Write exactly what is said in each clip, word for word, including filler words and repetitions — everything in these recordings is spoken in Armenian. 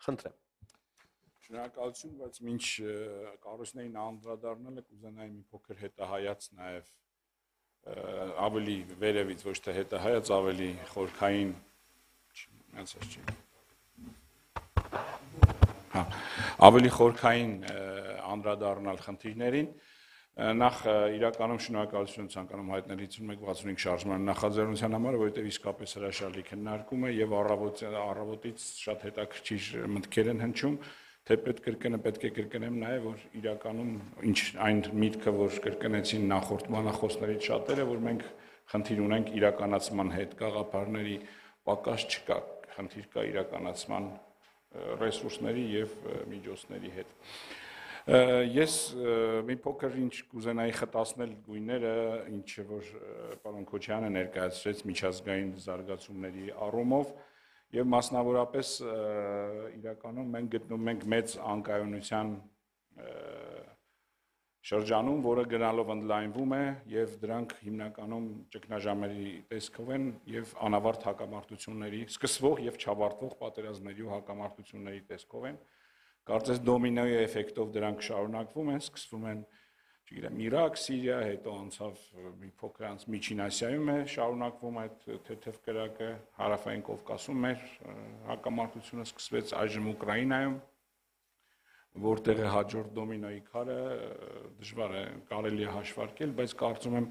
Խնդրեմ։ Շնորհակալություն, բայց մինչ կառույցներին անդրադառնալը կուզենայի մի փոքր հետահայաց նաև ավելի վերևից, ոչ թե հետահայաց, ավելի խորքային, ասած չի։ Հա, ավելի խորքային անդրադառնալ խնդիրներին։ Նախ իրականում շնորհակալություն ցանկանում հայտնել հինգ վաթսունհինգ շարժման նախաձեռնության համար, որովհետև իսկապես հրաշալի քննարկում է եւ առավոտից շատ հետաքրքիր մտքեր են հնչում, թե պետք կրկնը պետք է կրկնեմ նաեւ, որ իրականում ինչ այն միտքը, որ կրկնեցին նախորդ բանախոսներից շատերը, որ մենք խնդիր ունենք իրականացման հետ, գաղափարների պակաս չկա, խնդիր կա իրականացման ռեսուրսների եւ միջոցների հետ։ Ես մի փոքր ինչ կուզենայի խտացնել գույները, ինչը որ պարոն Քոչյանը ներկայացրեց միջազգային զարգացումների առումով եւ մասնավորապես իրականում մենք գտնում ենք մեծ անկայունության շրջանում, որը գնալով ընդլայնվում է եւ դրանք հիմնականում ճգնաժամերի տեսքով են եւ անավարտ հակամարտությունների, սկսվող եւ չավարտվող պատերազմների ու հակամարտությունների տեսքով են։ Կարծես դոմինոյի էֆեկտով դրանք շարունակվում են, սկսվում են, չգիտեմ, Իրաք, Սիրիա, հետո անցավ մի փոքր անց Միջին Ասիայում է շարունակվում այդ թեթև կրակը, Հարավային Կովկասում էր հակամարտությունը սկսվեց, այժմ Ուկրաինայում, որտեղ է հաջորդ դոմինոյի քարը, դժվար է կարելի է հաշվարկել, բայց կարծում եմ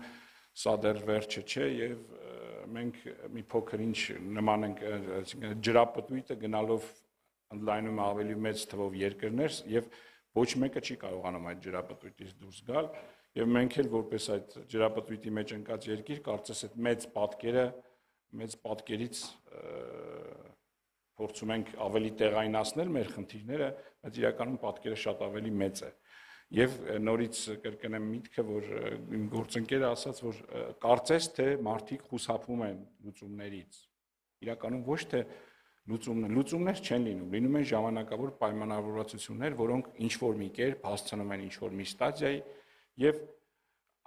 սա դեռ վերջը չէ եւ մենք մի փոքր ինչ նման ենք, ջրապտույտը գնալով ընդլայնում ավելի մեծ թվով երկրներ եւ ոչ մեկը չի կարողանում այդ ջրապտույտից դուրս գալ եւ մենք էլ որպես այդ ջրապտույտի մեջ ընկած երկիր կարծես այդ մեծ պատկերը մեծ պատկերից փորձում ենք ավելի տեղայնացնել մեր խնդիրները, բայց իրականում պատկերը շատ ավելի մեծ է եւ նորից կրկնեմ միտքը, որ իմ գործընկերը ասաց, որ կարծես թե մարդիկ խուսափում են լուծումներից, իրականում ոչ թե Լուծումներ, լուծումներ չեն լինում, լինում են ժամանակավոր պայմանավորվածություններ, որոնք ինչ-որ մի կերպ հասցնում են ինչ-որ մի ստադիայի եւ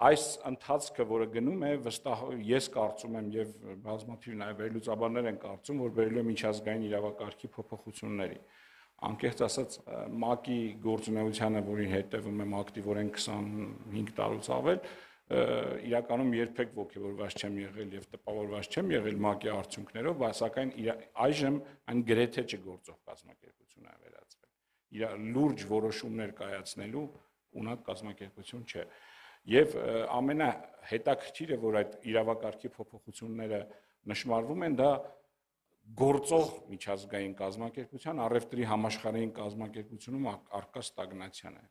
այս ընթացքը, որը գնում է, վստահ ես կարծում եմ եւ բազմաթիվ նաեւ վերլուծաբաններ են կարծում, որ բերելու է միջազգային իրավակարգի փոփոխությունների։ Անկեղծ ասած, ՄԱԿ-ի գործունեությանը, որին հետևում եմ ակտիվորեն քսանհինգ տարուց ավել, իրականում երբեք ոգևորված չեմ եղել եւ տպավորված չեմ եղել ՄԱԿ-ի արդյունքներով, սակայն այժմ այն գրեթե չգործող կազմակերպություն է վերածվել։ Իր լուրջ որոշումներ կայացնելու ունակ կազմակերպություն չէ։ Եվ ամենահետաքրքիրը, որ այդ իրավակարգի փոփոխությունները նշмарվում են, դա գործող միջազգային կազմակերպության, առևտրի համաշխարհային կազմակերպությունում առկա ստագնացիան է։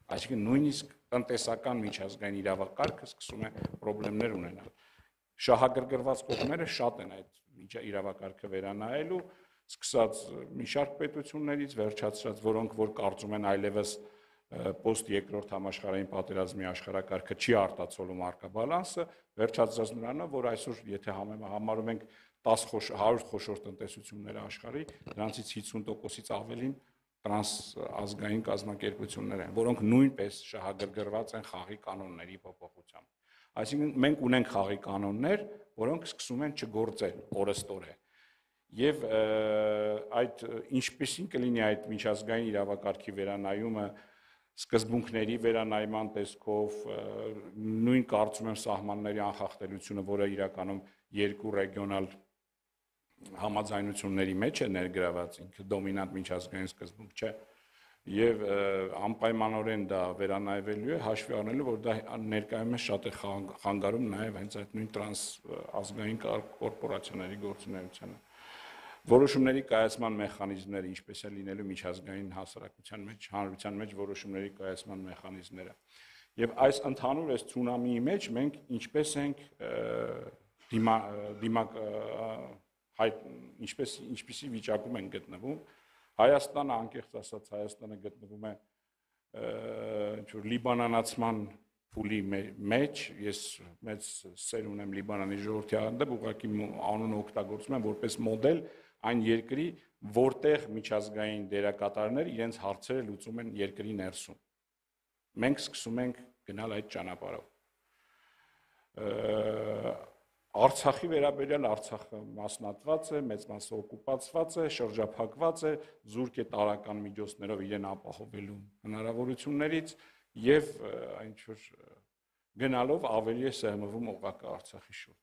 Այսինքն նույնիսկ տնտեսական միջազգային իրավակարգը սկսում է խնդիրներ ունենալ։ Շահագրգռված կողմերը շատ են այդ իրավակարգը վերանայելու, սկսած մի շարք պետություններից, վերջացրած, որոնք որ կարծում են այլևս post երկրորդ համաշխարհային պատերազմի աշխարհակարգը չի արտացոլում առկա բալանսը, վերջացրած նրանով, որ այսօր եթե համարում ենք տասը հարյուր խոշոր տնտեսությունները աշխարհի, դրանցից հիսուն տոկոսից ավելին տրանսազգային կազմակերպություններ են, որոնք նույնպես շահագրգռված են խաղի կանոնների փոփոխությամբ։ Այսինքն մենք ունենք խաղի կանոններ, որոնք սկսում են չգործել օրըստօրե։ Եվ այդ ինչպեսին կլինի այդ միջազգային իրավակարգի վերանայումը սկզբունքների վերանայման տեսքով, նույն կարծում եմ սահմանների անխախտելիությունը, որը իրականում երկու ռեգիոնալ համաձայնությունների մեջ է ներգրաված, ինքը դոմինանտ միջազգային սկզբունք չէ եւ անպայմանորեն դա վերանայվելու է, հաշվի առնելով, որ դա ներկայումս շատ է խանգարում նաեւ հենց այդ նույն տրանսազգային կորպորացիաների գործունեությանը։ Որոշումների կայացման մեխանիզմները, ինչպես է լինելու միջազգային հասարակության մեջ, հանրության մեջ որոշումների կայացման մեխանիզմները։ Եվ այս ընդհանուր այս ցունամիի մեջ մենք ինչպես ենք դիմա դիմա հայ ինչպես ինչպիսի վիճակում են գտնվում, Հայաստանը անկեղծ ասած Հայաստանը գտնվում է ինչ որ լիբանանացման փուլի մեջ, ես մեծ սեր ունեմ Լիբանանի ժողովրդի հանդեպ, ուղղակի անունը օգտագործում եմ որպես մոդել այն երկրի, որտեղ միջազգային դերակատարներ իրենց հարցերը լուծում են երկրի ներսում։ Մենք սկսում ենք գնալ այդ ճանապարհով։ Արցախի վերաբերյալ Արցախը մասնատված է, մեծ մասը օկուպացված է, շրջափակված է, զուրկ է տարական միջոցներով իրեն ապահովելու հնարավորություններից եւ ինչ որ գնալով ավելի է սեղմվում օղակը Արցախի շուրջ։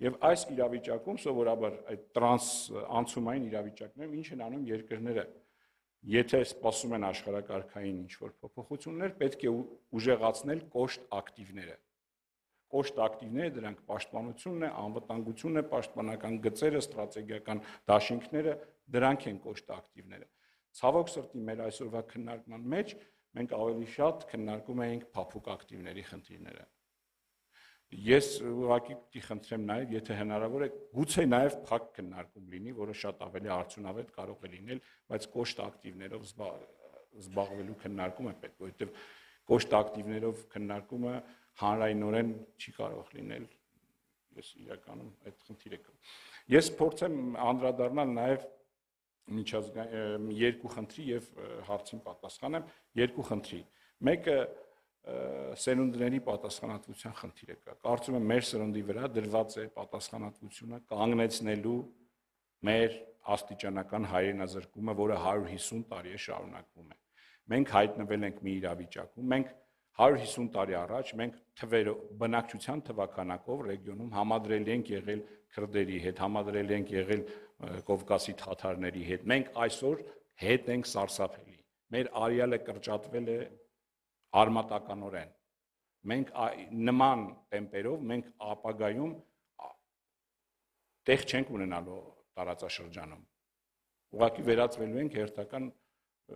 Եվ այս իրավիճակում սովորաբար այդ տրանս անցումային իրավիճակներում ինչ են անում երկրները, եթե սպասում են աշխարհակարգային ինչ-որ փոփոխություններ, պետք է ուժեղացնել կոշտ ակտիվները։ Կոշտ ակտիվները դրանք պաշտպանությունն է, անվտանգությունն է, պաշտպանական գծերը, ստրատեգիական դաշինքները, դրանք են կոշտ ակտիվները։ Ցավոք սրտի մեր այսօրվա քննարկման մեջ մենք ավելի շատ քննարկում էինք փափուկ ակտիվների խնդիրները։ Ես ուղղակի պիտի խնդրեմ նաև, եթե հնարավոր է, գուցե նաև փակ քննարկում լինի, որը շատ ավելի արդյունավետ կարող է լինել, բայց կոշտ ակտիվներով զբաղվելու քննարկում է պետք, որովհետև կոշտ ակտիվներով քննարկումը հանրայնորեն չի կարող լինել, ես իրականում այդ խնդիրը կա։ Ես փորձեմ անդրադառնալ նաև միջազգային երկու խնդրի եւ հարցին պատասխանեմ, երկու խնդրի։ Մեկը սերունդների պատասխանատվության խնդիրը կա։ Կարծում եմ մեր սերունդի վրա դրված է պատասխանատվությունը կանգնեցնելու մեր աստիճանական հայրենազրկումը, որը հարյուր հիսուն տարի է շարունակվում է։ Մենք հայտնվել ենք մի իրավիճակում, մենք հարյուր հիսուն տարի առաջ մենք թվերը բնակչության թվականակով ռեգիոնում համադրելի ենք եղել քրդերի հետ, համադրելի ենք եղել Կովկասի թաթարների հետ։ Մենք այսօր հետ ենք սարսափելի։ Մեր արյալը կրճատվել է արմատականորեն։ Մենք նման տեմպերով մենք ապագայում տեղ չենք ունենալու տարածաշրջանում։ Ուղղակի վերածվելու ենք հերթական,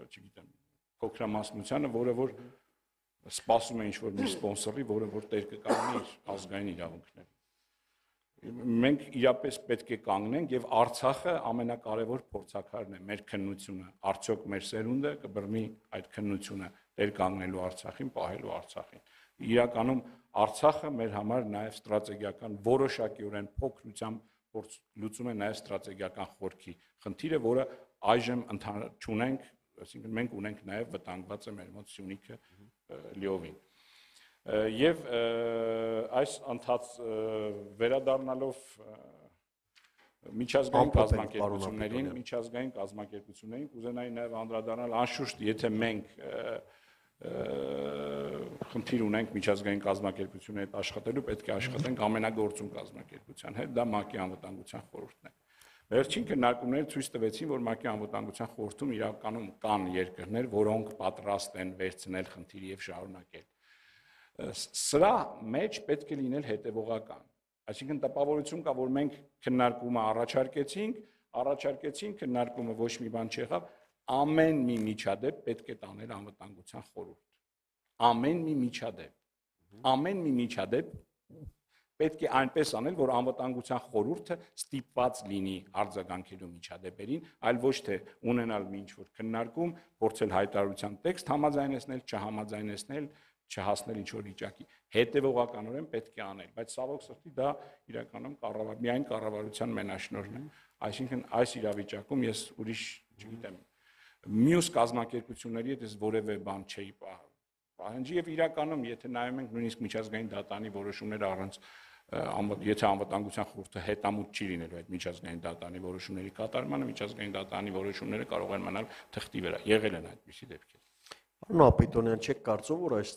չգիտեմ, փոքրամասնությանը, որը որ սպասում է ինչ-որ մի սպոնսորի, որը որ տեր կկանգնի իր ազգային իրավունքներին։ Մենք իրապես պետք է կանգնենք եւ Արցախը ամենակարևոր փորձաքարն է մեր քննությունը։ Արդյոք մեր սերունդը կբռնի այդ քննությունը տեր կանգնելու Արցախին, պահելու Արցախին։ Իրականում Արցախը մեր համար նաեւ ստրատեգիական որոշակիորեն փոքրությամբ լուծում է նաեւ ստրատեգիական խորքի խնդիրը, որը այժմ չունենք, այսինքն մենք ունենք նաեւ վտանգված է մեր մոտ Սյունիքը լիովին։ Եվ այս ընթաց վերադառնալով միջազգային կազմակերպություններին, միջազգային կազմակերպություններին կուզենայի նաև անդրադառնալ, անշուշտ, եթե մենք խնդիր ունենք միջազգային կազմակերպությունների հետ աշխատելու, պետք է աշխատենք ամենագործուն կազմակերպության հետ, դա ՄԱԿ-ի անվտանգության խորհուրդն է։ Վերջին քննարկումները ցույց տվեցին, որ ՄԱԿ-ի անվտանգության խորհրդում իրականում կան երկրներ, որոնք պատրաստ են վերցնել խնդիրը եւ շարունակել։ Սրա մեջ պետք է լինել հետևողական։ Այսինքն տպավորություն կա, որ մենք քննարկումը առաջարկեցինք, առաջարկեցինք քննարկումը ոչ մի բան չեղավ, ամեն մի միջադեպ պետք է տանել անվտանգության խորհուրդ։ Ամեն մի միջադեպ, ամեն մի միջադեպ պետք է այնպես անել, որ անվտանգության խորհուրդը ստիպված լինի արձագանքելու միջադեպերին, այլ ոչ թե ունենալ մի ինչ-որ քննարկում, փորձել հայտարարության տեքստ համաձայնեցնել, չհամաձայնեցնել, չհասնել ինչ-որ վիճակի։ Հետևողականորեն պետք է անել, բայց ցավոք սրտի դա իրականում կառավար, միայն կառավարության մենաշնորհն է։ Այսինքն այս իրավիճակում ես ուրիշ, չգիտեմ, մյուս կազմակերպությունների հետ ես որևէ բան չէի պահանջի եւ իրականում, եթե նայում ենք նույնիսկ միջազգային դատանի որոշումները առանց եթե անվտանգության խորհուրդը հետամուտ չի լինելու այդ միջազգային դատանի որոշումների կատարմանը, միջազգային դատանի որոշումները կարող են մնալ թղթի վրա։ Եղել են այդպիսի դեպքեր։ Պարոն Ապետոնյան, չեք կարծում, որ այս